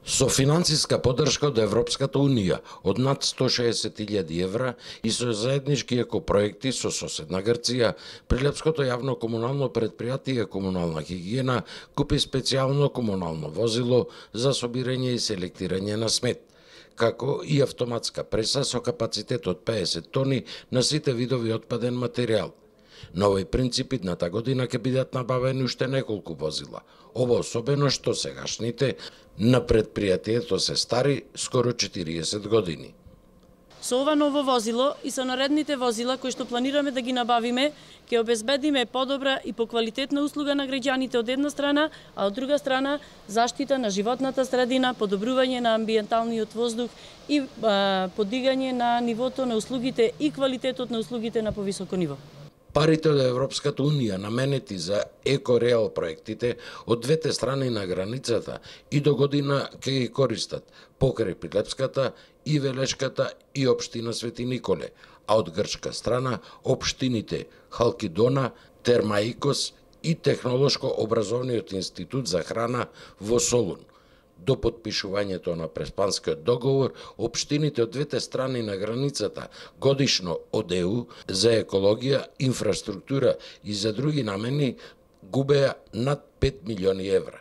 Со финансиска поддршка од Европската Унија од над 160.000 евра и со заеднички екопроекти со соседна Грција, Прилепското јавно комунално предпријатие Комунална хигиена купи специјално комунално возило за собирање и селектирање на смет, како и автоматска преса со капацитет од 50 тони на сите видови отпаден материјал. На овој принцип идната година ќе бидат набавени уште неколку возила. Ова особено што сегашните на предпријатието се стари скоро 40 години. Со ова ново возило и со наредните возила кои што планираме да ги набавиме, ќе обезбедиме подобра и поквалитетна услуга на граѓаните од една страна, а од друга страна заштита на животната средина, подобрување на амбиенталниот воздух и подигање на нивото на услугите и квалитетот на услугите на повисоко ниво. Парите од Европската Унија наменети за екореал проектите од двете страни на границата и до година ќе ги користат покрај Прилепската и Велешката и општина Свети Николе, а од грчка страна општините Халкидона, Термаикос и Технолошко-образовниот институт за храна во Солун. До потпишувањето на Преспанскиот договор, општините од двете страни на границата годишно од ЕУ за екологија, инфраструктура и за други намени губеа над 5 милиони евра.